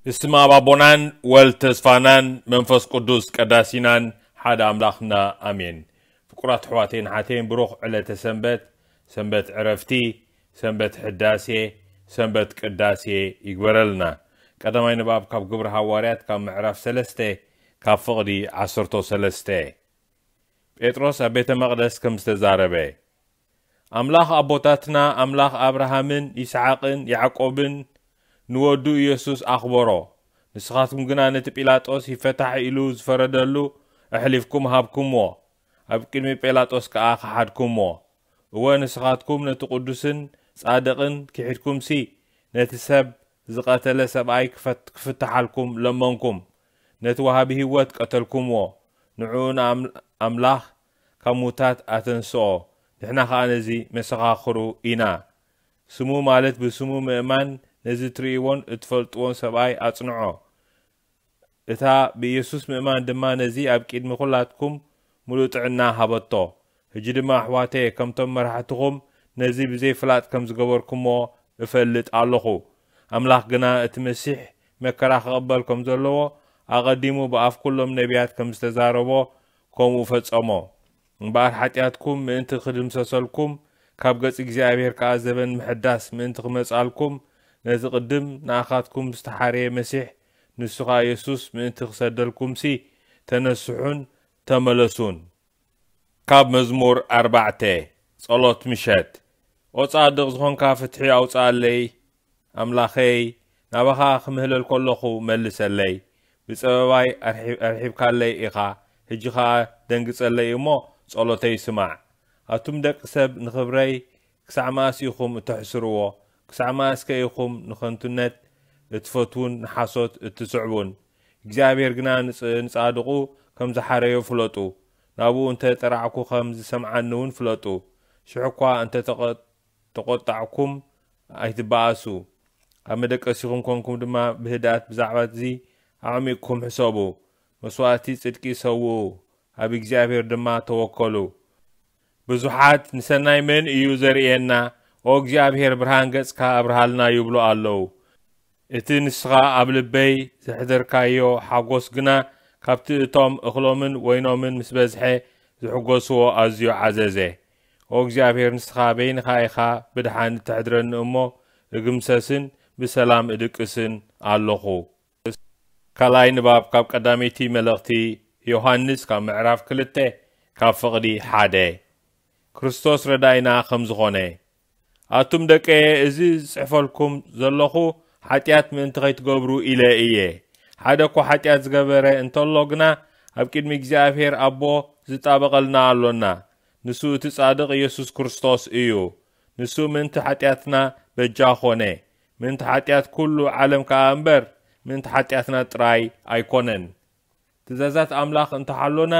ብስም ኣብ ኣቦናን ወልድ ተስፋናን መንፈስ ቅዱስ ቀዳሲናን ሓደ ኣምላኽና ኣሜን። ፍቁራት ኣሕዋተይን ኣሓተይን፣ ብሩኽ ዕለተ ሰንበት፣ ሰንበት ዕረፍቲ፣ ሰንበት ሕዳሴ፣ ሰንበት ቅዳሴ ይግበረልና። ቀዳማይ ንባብ ካብ ግብሪ ሃዋርያት ካብ ምዕራፍ ሰለስተ ካብ ፍቕዲ ዓሰርተ ሰለስተ። ጴጥሮስ ኣብ ቤተ መቕደስ ከም ዝተዛረበ። ኣምላኽ ኣቦታትና፣ ኣምላኽ ኣብርሃምን ይስሓቅን ያዕቆብን ንወዱ ኢየሱስ ኣኽበሮ። ንስኻትኩም ግና ነቲ ጲላጦስ ይፈታሕ ኢሉ ዝፈረደሉ ኣሕሊፍኩም ሃብኩምዎ፣ ኣብ ቅድሚ ጲላጦስ ከኣ ከሓድኩምዎ። እወ፣ ንስኻትኩም ነቲ ቅዱስን ጻድቕን ክሒድኩምሲ፣ ነቲ ሰብ ዝቐተለ ሰብኣይ ክፈት-፣ ክፍትሓልኩም ለመንኩም። ነቲ ወሃቢ ህይወት ቀተልኩምዎ፣ ንዕኡ ንኣም-፣ ኣምላኽ ካብ ሙታት ኣተንስኦ፣ ንሕና ኸኣ ነዚ መሰኻኽሩ ኢና። ስሙ፣ ማለት ብስሙ ምእማን፣ ነዚ እትርእይዎን እትፈልጥዎን ሰብኣይ ኣጽንዖ። እታ ብኢየሱስ ምእማን ድማ ነዚ ኣብ ቅድሚ ኹላትኩም ምሉእ ጥዕና ሃበቶ። ሕጂ ድማ ኣሕዋተየ፣ ከምቶም መራሕትኹም ነዚ ብዘይ ፍላጥ ከም ዝገበርኩምዎ እፈልጥ ኣለኹ። ኣምላኽ ግና እቲ መሲሕ መከራ ክቕበል ከም ዘለዎ ኣቐዲሙ ብኣፍ ኩሎም ነቢያት ከም ዝተዛረቦ ከምኡ ፈጸሞ። እምበኣር ሓጢኣትኩም ምእንቲ ክድምሰሰልኩም፣ ካብ ገጽ እግዚኣብሔር ከኣ ዘበን ምሕዳስ ምእንቲ ክመጻልኩም፣ ነቲ ቅድም ንኣኻትኩም ዝተሓርየ መሲሕ፣ ንሱ ኸኣ የሱስ ምእንቲ ክሰደልኩምሲ፣ ተነስሑን ተመለሱን። ካብ መዝሙር ኣርባዕተ። ጸሎት ምሸት። ኦ ጻድቕ ዝኾንካ፣ ፍትሒ ኣውጽኣለይ፣ ኣምላኸይ፣ ናባኻ ክምህለል ከለኹ መልሰለይ። ብጸበባይ ኣርሒ-፣ ኣርሒብካለይ ኢኻ፣ ሕጂ ኸኣ ደንግጸለይ እሞ፣ ጸሎተይ ስማዕ። ኣቱም ደቂ ሰብ፣ ንኽብረይ ክሳዕ መኣስ ኢኹም እተሕስርዎ? ክሳዕ መኣስከ ኢኹም ንኸንቱነት እትፈትዉን ንሓሶት እትስዕቡን? እግዚኣብሔር ግና ንጽ-፣ ንጻድቑ ከም ዝሓረዮ ፍለጡ። ናብኡ እንተ ጠራዕኩ ከም ዝሰምዓኒ እውን ፍለጡ። ሽሕ እኳ እንተ ተቐ-፣ ተቖጣዕኩም ኣይትበኣሱ። ኣብ መደቀሲኹም ኮንኩም ድማ ብህድኣት ብዛዕባ እዚ ኣዕሚቕኩም ሕሰቡ። መስዋእቲ ጽድቂ ሰውኡ፣ ኣብ እግዚኣብሔር ድማ ተወከሉ። ብዙሓት፣ "ንሰናይ መን እዩ ዘርእየና? ኦ እግዚኣብሔር፣ ብርሃን ገጽካ ኣብርሃልና" ይብሉ ኣለዉ። እቲ ንስኻ ኣብ ልበይ ዘሕደርካዮ ሓጎስ ግና ካብቲ እቶም እኽሎምን ወይኖምን ምስ በዝሐ ዝሕጎስዎ ኣዝዩ ዓዘዘ። ኦ እግዚኣብሔር፣ ንስኻ በይንኻ ኢኻ ብድሓን እተሕድረኒ እሞ፣ እግምሰስን ብሰላም እድቅስን ኣለኹ። ካልኣይ ንባብ ካብ ቀዳመይቲ መልእኽቲ ዮሃንስ ካብ ምዕራፍ ክልተ ካብ ፍቕዲ ሓደ። ክርስቶስ ረዳይና ከም ዝኾነ። ኣቱም ደቀየ፣ እዚ ዝጽሕፈልኩም ዘለኹ ሓጢኣት ምእንቲ ኸይትገብሩ ኢለ እየ። ሓደ እኳ ሓጢኣት ዝገበረ እንተሎ ግና፣ ኣብ ቅድሚ እግዚኣብሔር ኣቦ ዝጣበቐልና ኣሎና። ንሱ እቲ ጻድቕ ኢየሱስ ክርስቶስ እዩ። ንሱ ምእንቲ ሓጢኣትና በጃ ኾነ። ምእንቲ ሓጢኣት ኩሉ ዓለም ከኣ እምበር፣ ምእንቲ ሓጢኣትና ጥራይ ኣይኮነን። ትእዛዛት ኣምላኽ እንተሓሎና፣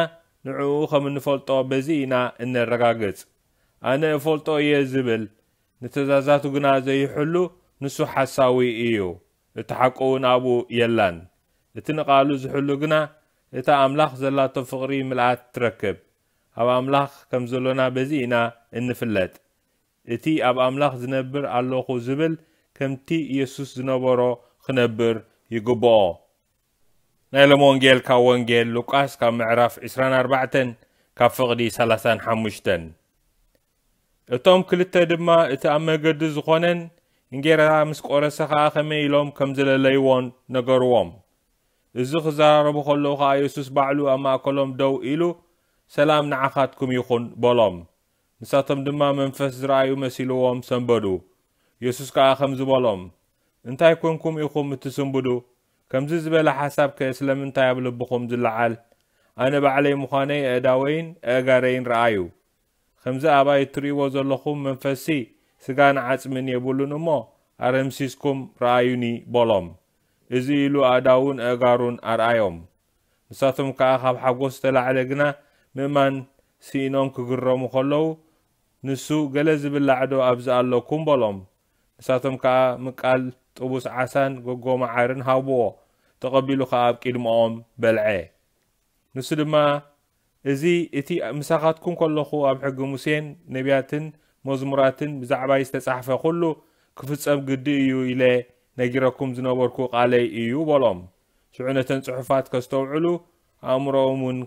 ንዕኡ ከም እንፈልጦ በዚ ኢና እነረጋግጽ። ኣነ እፈልጦ እየ ዝብል፣ ንትእዛዛቱ ግና ዘይሕሉ፣ ንሱ ሓሳዊ እዩ፣ እቲ ሓቂ እውን ኣብኡ የላን። እቲ ንቓሉ ዝሕሉ ግና፣ እታ ኣምላኽ ዘላቶ ፍቕሪ ምልኣት ትረክብ። ኣብ ኣምላኽ ከም ዘሎና በዚ ኢና እንፍለጥ። እቲ ኣብ ኣምላኽ ዝነብር ኣለኹ ዝብል፣ ከምቲ ኢየሱስ ዝነበሮ ክነብር ይግብኦ። ናይ ሎም ወንጌል ካብ ወንጌል ሉቃስ ካብ ምዕራፍ ዕስራን ኣርባዕተን ካብ ፍቕዲ ሰላሳን ሓሙሽተን። እቶም ክልተ ድማ እቲ ኣብ መገዲ ዝኾነን እንጌራ ምስ ቆረሰ ኸኣ ከመይ ኢሎም ከም ዝለለይዎን ነገርዎም። እዚ ክዘራረቡ ከለዉ ኸኣ የሱስ ባዕሉ ኣብ ማእከሎም ደው ኢሉ፣ "ሰላም ንዓኻትኩም ይኹን" በሎም። ንሳቶም ድማ መንፈስ ዝረኣዩ መሲልዎም ሰንበዱ። የሱስ ከኣ ከምዚ በሎም፣ "እንታይ ኰንኩም ኢኹም እትስንብዱ? ከምዚ ዝበለ ሓሳብከ ስለምንታይ ኣብ ልብኹም ዝለዓል? ኣነ ባዕለይ ምዃነይ ኣእዳወይን ኣእጋረይን ረኣዩ። ከምዚ ኣባይ እትርእይዎ ዘለኹም መንፈስሲ ስጋን ዓጽምን የብሉን እሞ፣ ኣረምሲስኩም ረኣዩኒ" በሎም። እዚ ኢሉ ኣእዳዉን ኣእጋሩን ኣርኣዮም። ንሳቶም ከኣ ካብ ሓጎስ ዝተላዕለ ግና ምእማን ስኢኖም ክግረሙ ከለዉ፣ ንሱ፣ "ገለ ዝብላዕ ዶ ኣብዚ ኣለኩም?" በሎም። ንሳቶም ከኣ ምቃል ጥቡስ ዓሳን ጎጎ መዓርን ሃብዎ። ተቐቢሉ ከኣ ኣብ ቅድመኦም በልዐ። ንሱ ድማ፣ "እዚ እቲ ምሳኻትኩም ከለኹ ኣብ ሕጊ ሙሴን ነቢያትን መዝሙራትን ብዛዕባይ ዝተጻሕፈ ኩሉ ክፍጸም ግዲ እዩ" ኢለ ነጊረኩም ዝነበርኩ ቃለይ እዩ በሎም። ሽዑ ነተን ጽሑፋት ከስተውዕሉ ኣእምሮኦም እውን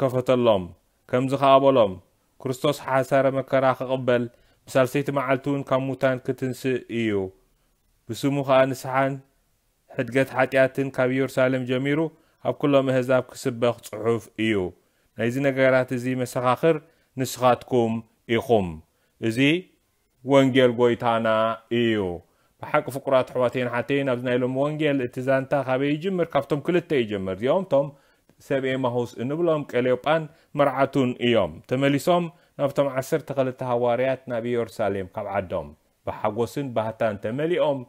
ከፈተሎም። ከምዚ ኸኣ በሎም፣ ክርስቶስ ሓሳረ መከራ ክቕበል፣ ብሳልሰይቲ መዓልቲ እውን ካብ ሙታን ክትንስእ እዩ። ብስሙ ኸኣ ንስሓን ሕድገት ሓጢኣትን ካብ ኢየሩሳሌም ጀሚሩ ኣብ ኩሎም ኣህዛብ ክስበኽ ጽሑፍ እዩ። ናይዚ ነገራት እዚ መሰኻኽር ንስኻትኩም ኢኹም። እዚ ወንጌል ጐይታና እዩ። ብሓቂ ፍቁራት ኣሕዋተይን ሓተይን፣ ኣብዚ ናይ ሎሚ ወንጌል እቲ ዛንታ ካበይ ይጅምር? ካብቶም ክልተ ይጀምር። እዚኦም እቶም ሰብ ኤማሁስ እንብሎም ቀልዮጳን መርዓቱን እዮም። ተመሊሶም ናብቶም ዓሰርተ ክልተ ሃዋርያት ናብ ኢየሩሳሌም ካብ ዓዶም ብሓጎስን ባህታን ተመሊኦም፣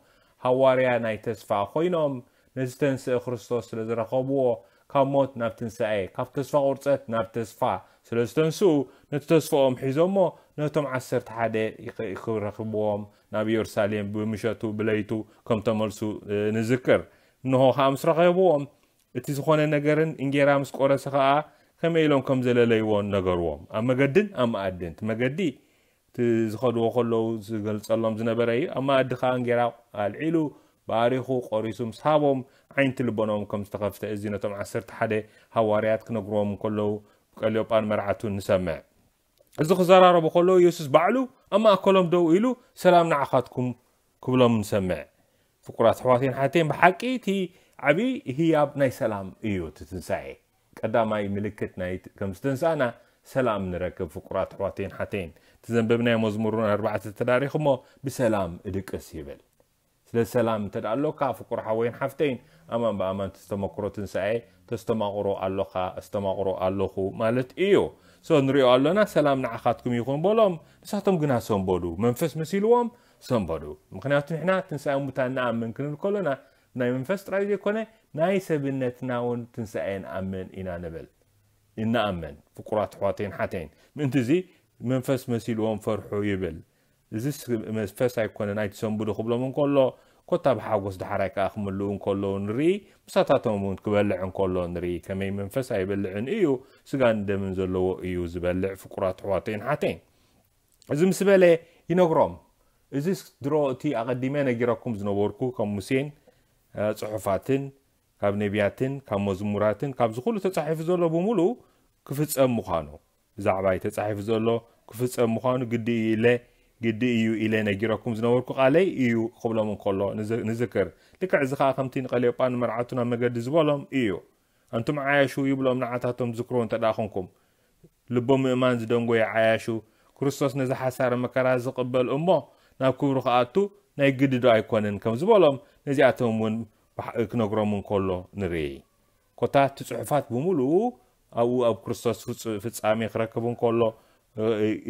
ሃዋርያ ናይ ተስፋ ኮይኖም፣ ነዚ ዝተንስአ ክርስቶስ ስለ ዝረኸብዎ፣ ካብ ሞት ናብ ትንሳኤ፣ ካብ ተስፋ ቁርጸት ናብ ተስፋ ስለ ዝተንስኡ፣ ነቲ ተስፋኦም ሒዞሞ ነቶም ዓሰርተ ሓደ ይኸ-፣ ክረኽብዎም ናብ ኢየሩሳሌም ብምሸቱ ብለይቱ ከም ተመልሱ፣ እ፣ ንዝክር። እንሆ ኸኣ ምስ ረኸብዎም፣ እቲ ዝኾነ ነገርን እንጌራ ምስ ቆረሰ ኸኣ ከመይ ኢሎም ከም ዘለለይዎን ነገርዎም። ኣብ መገድን ኣብ መኣድን፣ እቲ መገዲ እቲ ዝኸድዎ ከለዉ ዝገልጸሎም ዝነበረ እዩ። ኣብ መኣዲ ኸኣ እንጌራ ኣልዒሉ፣ ባሪኹ፣ ቆሪሱ ምስ ሃቦም፣ ዓይንቲ ልቦናኦም ከም ዝተኸፍተ፣ እዚ ነቶም ዓሰርተ ሓደ ሃዋርያት ክነግርዎም እንከለዉ፣ ቀልዮጳን መርዓቱን ንሰምዕ። እዚ ክዘራረቡ ከለዉ፣ የሱስ ባዕሉ ኣብ ማእከሎም ደው ኢሉ፣ "ሰላም ንዓኻትኩም" ክብሎም ንሰምዕ። ፍቁራት ኣሕዋተይን ሓተይን፣ ብሓቂ እቲ ዓብዪ ህያብ ናይ ሰላም እዩ እቲ ትንሳኤ። ቀዳማይ ምልክት ናይ ከም ዝተንሳእና ሰላም ንረክብ። ፍቁራት ኣሕዋተይን ሓተይን፣ እቲ ዘንበብናዮ መዝሙር እውን ኣርባዕተ ተዳሪኹሞ፣ "ብሰላም እድቅስ" ይብል። ስለ ሰላም እንተ ደኣ ኣሎካ፣ ፍቁር ሓወይን ሓፍተይን፣ ኣማን ብኣማን እቲ ዝተመክሮ ትንሳኤ ተስተማቕሮ ኣሎኻ፣ ኣስተማቕሮ ኣለኹ ማለት እዩ። ሶ ንሪኦ ኣሎና፣ "ሰላም ንዓኻትኩም ይኹን" በሎም። ንሳቶም ግና ሰንበዱ፣ መንፈስ መሲልዎም ሰንበዱ። ምኽንያቱ ንሕና ትንሳኤ ሙታን ንኣምን ክንብል ከሎና፣ ናይ መንፈስ ጥራይ ዘይኮነ፣ ናይ ሰብነትና እውን ትንሳኤ ንኣምን ኢና ንብል። እንኣምን፣ ፍቁራት ኣሕዋተይን ሓተይን። ምእንቲ እዚ መንፈስ መሲልዎም ፈርሑ ይብል። እዚ ስ-፣ መንፈስ ኣይኮነን ኣይትሰንብዱ ክብሎም እንከሎ፣ ኮታ ብሓጎስ ዳሕራይ ከኣ ክምልኡ እንከለዉ ንርኢ፣ ምሳታቶም እውን ክበልዕ እንከሎ ንርኢ። ከመይ መንፈስ ኣይበልዕን እዩ፣ ስጋን ደምን ዘለዎ እዩ ዝበልዕ፣ ፍቁራት ኣሕዋተይን ሓተይን። እዚ ምስ በለ ይነግሮም። እዚ ድሮ እቲ ኣቐዲመ ነጊረኩም ዝነበርኩ፣ ካብ ሙሴን፣ እ፣ ጽሑፋትን፣ ካብ ነቢያትን፣ ካብ መዝሙራትን፣ ካብዚ ኩሉ ተጻሒፉ ዘሎ ብምሉኡ ክፍጸም ምዃኑ፣ ብዛዕባይ ተጻሒፉ ዘሎ ክፍጸም ምዃኑ ግዲ እዩ ኢለ፣ ግዲ እዩ ኢለ ነጊረኩም ዝነበርኩ ቃለይ እዩ ክብሎም እንከሎ ንዝ-፣ ንዝክር። ልክዕ እዚ ኸኣ ከምቲ ንቀልዮጳን መርዓቱ ናብ መገዲ ዝበሎም እዩ። ኣንቱም ዓያሹ ይብሎም ንዓታቶም ትዝክርዎ እንተ ደኣ ኾንኩም። ልቦም ምእማን ዝደንጎየ ዓያሹ፣ ክርስቶስ ነዚ ሓሳረ መከራ ዝቕበል እሞ ናብ ክብሩ ክኣቱ ናይ ግዲ ዶ ኣይኮነን ከም ዝበሎም ነዚኣቶም እውን ብሓ-፣ ክነግሮም እንከሎ ንርኢ። ኮታ እቲ ጽሑፋት ብምሉኡ ኣብኡ ኣብ ክርስቶስ ፍጹ-፣ ፍጻሜ ክረክብ እንከሎ፣ እ፣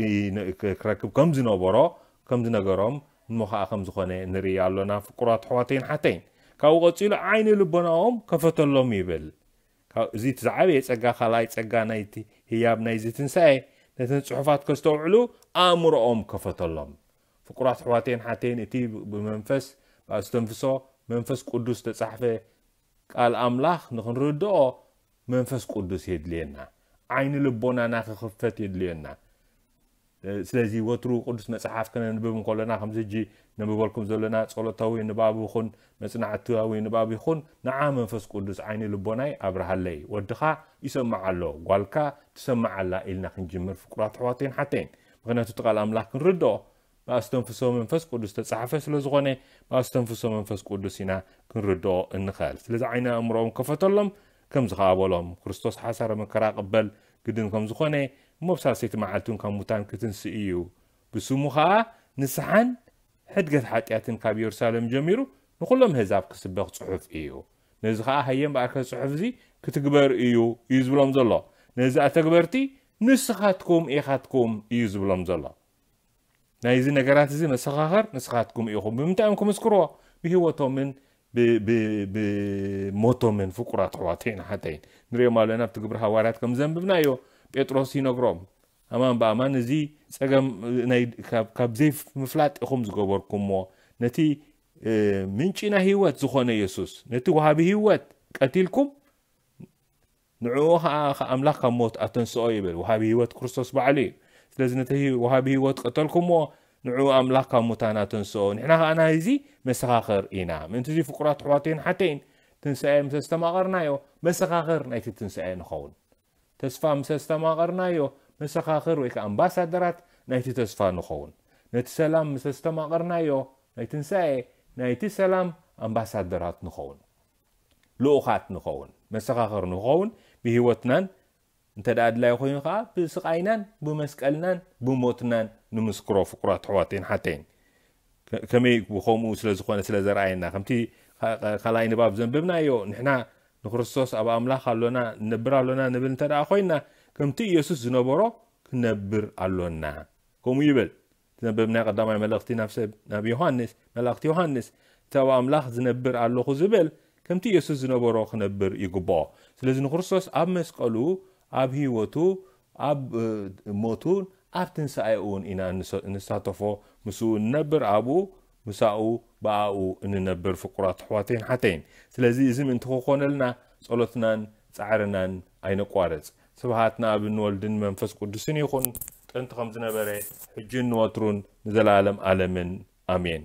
እ፣ እ፣ ክረክብ ከም ዝነበሮ፣ ከም ዝነገሮም እሞ ኸኣ ከም ዝኾነ ንርኢ ኣሎና፣ ፍቁራት ኣሕዋተይን ሓተይን። ካብኡ ቀጺሉ ዓይኒ ልቦናኦም ከፈተሎም ይብል። ካብ እዚ እቲ ዝዓበየ ጸጋ፣ ካልኣይ ጸጋ ናይቲ ህያብ ናይዚ ትንሳኤ፣ ነተን ጽሑፋት ከስተውዕሉ ኣእምሮኦም ከፈተሎም። ፍቁራት ኣሕዋተይን ሓተይን፣ እቲ ብ-፣ ብመንፈስ ብኣስተንፍሶ መንፈስ ቅዱስ ዝተጻሕፈ ቃል ኣምላኽ ንኽንርድኦ መንፈስ ቅዱስ የድልየና። ዓይኒ ልቦናና ክኽፈት የድልየና። ስለዚ ወትሩ ቅዱስ መጽሓፍ ከነንብብ እንከለና፣ ከምዚ ሕጂ ነንብበልኩም ዘለና ጸሎታዊ ንባብ ይኹን መጽናዕታዊ ንባብ ይኹን፣ ንዓ መንፈስ ቅዱስ ዓይኒ ልቦናይ ኣብርሃለይ፣ ወድኻ ይሰምዕ ኣሎ፣ ጓልካ ትሰምዕ ኣላ ኢልና ክንጅምር፣ ፍቁራት ኣሕዋተይን ሓተይን። ምኽንያቱ እቲ ቃል ኣምላኽ ክንርድኦ ብኣስተንፍሶ መንፈስ ቅዱስ ተጻሕፈ ስለ ዝኾነ፣ ብኣስተንፍሶ መንፈስ ቅዱስ ኢና ክንርድኦ እንኽእል። ስለዚ ዓይኒ ኣእምሮኦም ከፈተሎም፣ ከምዚ ኸኣ በሎም፣ ክርስቶስ ሓሳረ መከራ ቅበል ግድን ከም ዝኾነ፣ እሞ ብሳልሰይቲ መዓልቲ እውን ካብ ሙታን ክትንስእ እዩ። ብስሙ ኸኣ ንስሓን ሕድገት ሓጢኣትን ካብ የሩሳሌም ጀሚሩ ንኹሎም ኣህዛብ ክስበኽ ጽሑፍ እዩ። ነዚ ኸኣ ሃየ እምበኣርከ ጽሑፍ እዚ ክትግበር እዩ፣ እዩ ዝብሎም ዘሎ። ነዚ ኣተግበርቲ ንስኻትኩም ኢኻትኩም እዩ ዝብሎም ዘሎ። ናይዚ ነገራት እዚ መሰኻኽር ንስኻትኩም ኢኹም። ብምንታይ እዮም ክምስክርዎ? ብህይወቶምን ብ-፣ ብ-፣ ብሞቶምን፣ ፍቁራት ኣሕዋተይን ኣሓተይን። ንሪኦም ኣለና ኣብቲ ግብሪ ሃዋርያት ከም ዘንብብናዮ፣ ጴጥሮስ ይነግሮም፣ ኣማን ብኣማን እዚ ጸገም ናይ፣ ካብ፣ ካብ ዘይምፍላጥ ኢኹም ዝገበርኩምዎ። ነቲ፣ እ፣ ምንጪ ናይ ህይወት ዝኾነ የሱስ፣ ነቲ ወሃቢ ህይወት ቀቲልኩም፣ ንዕኡ ኸኣ፣ ኸኣ ኣምላኽ ካብ ሞት ኣተንስኦ ይብል። ወሃቢ ህይወት ክርስቶስ ባዕሉ እዩ። ስለዚ ነቲ ህይ-፣ ወሃቢ ህይወት ቀተልኩምዎ፣ ንዑ ኣምላኽ ካብ ሙታን ኣተንስኦ፣ ንሕና ኸኣ ናይዚ መሰኻኽር ኢና። ምእንቲ እዚ ፍቁራት ኣሕዋተይን ሓተይን፣ ትንሳኤ ምስ ኣስተማቐርናዮ፣ መሰኻኽር ናይቲ ትንሳኤ ንኸውን። ተስፋ ምስ ኣስተማቐርናዮ፣ መሰኻኽር ወይ ከኣ ኣምባሳደራት ናይቲ ተስፋ ንኸውን። ነቲ ሰላም ምስ ኣስተማቐርናዮ፣ ናይ ትንሳኤ ናይቲ ሰላም ኣምባሳደራት ንኸውን። ልኡኻት ንኸውን፣ መሰኻኽር ንኸውን፣ ብህይወትናን እንተ ደኣ ኣድላዪ ኮይኑ ኸኣ ብስቓይናን ብመስቀልናን ብሞትናን ንምስክሮ። ፍቁራት ኣሕዋተይን ሓተይን፣ ከ- ከመይ ብኸምኡ ስለ ዝኾነ ስለ ዘርኣየና፣ ከምቲ ካ- ካ- ካልኣይ ንባብ ዘንበብናዮ፣ ንሕና ንክርስቶስ ኣብ ኣምላኽ ኣሎና፣ ንነብር ኣሎና ንብል እንተ ደኣ ኮይንና፣ ከምቲ ኢየሱስ ዝነበሮ ክንነብር ኣሎና። ከምኡ ይብል። ዘንበብናዮ ቀዳማይ መልእኽቲ ናብ ሰብ ናብ ዮሃንስ፣ መልእኽቲ ዮሃንስ፣ እቲ ኣብ ኣምላኽ ዝነብር ኣለኹ ዝብል ከምቲ ኢየሱስ ዝነበሮ ክነብር ይግብኦ። ስለዚ ንክርስቶስ ኣብ መስቀሉ፣ ኣብ ህይወቱ፣ ኣብ እ፣ ሞቱን ኣብ ትንሳኤኡን ኢና እንሰ- እንሳተፎ። ምስኡ እንነብር፣ ኣብኡ፣ ምሳኡ፣ ብኣኡ እንነብር። ፍቁራት ኣሕዋተይን ሓተይን፣ ስለዚ እዚ ምእንቲ ክኾነልና ጸሎትናን ጻዕርናን ኣይነቋርጽ። ስብሃት ንኣብን ወልድን መንፈስ ቅዱስን ይኹን፣ ጥንቲ ከም ዝነበረ፣ ሕጂን ንወትሩን ንዘለኣለም ኣለምን። ኣሜን።